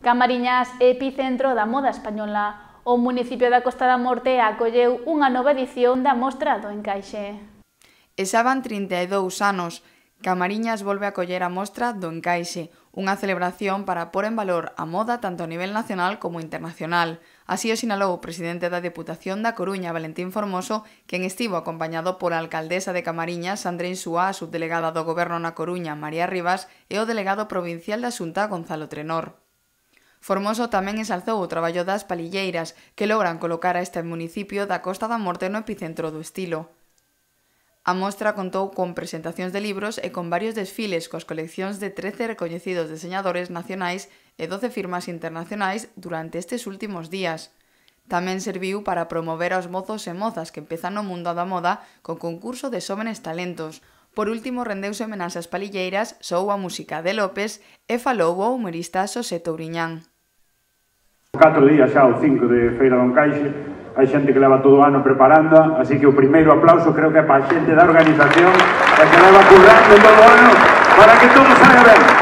Camariñas é epicentro da moda española. O municipio da Costa da Morte acolleu unha nova edición da Mostra do Encaixe. E xa van 32 anos. Camariñas volve a acoller a Mostra do Encaixe, unha celebración para pôr en valor a moda tanto a nivel nacional como internacional. Así o sinalou o presidente da Deputación da Coruña, Valentín Formoso, quen estivo acompañado pola alcaldesa de Camariñas, Sandra Insúa, a subdelegada do Goberno na Coruña, María Rivas, e o delegado provincial da Xunta, Gonzalo Trenor. Formoso tamén ensalzou o traballo das palilleiras, que logran colocar a este municipio da Costa da Morte no epicentro do estilo. A mostra contou con presentacións de libros e con varios desfiles coas coleccións de 13 recoñecidos deseñadores nacionais e 12 firmas internacionais durante estes últimos días. Tamén serviu para promover aos mozos e mozas que empezan no mundo da moda con concurso de xóvenes talentos. Por último, rendeuse homenaxe ás palilleiras, soou a música de López e falou o humorista Xosé Touriñán. 4 días xa, o 5 de Feira do Encaixe, hai xente que leva todo o ano preparando, así que o primeiro aplauso creo que é para a xente da organización, que leva currando todo o ano para que todo saia ben.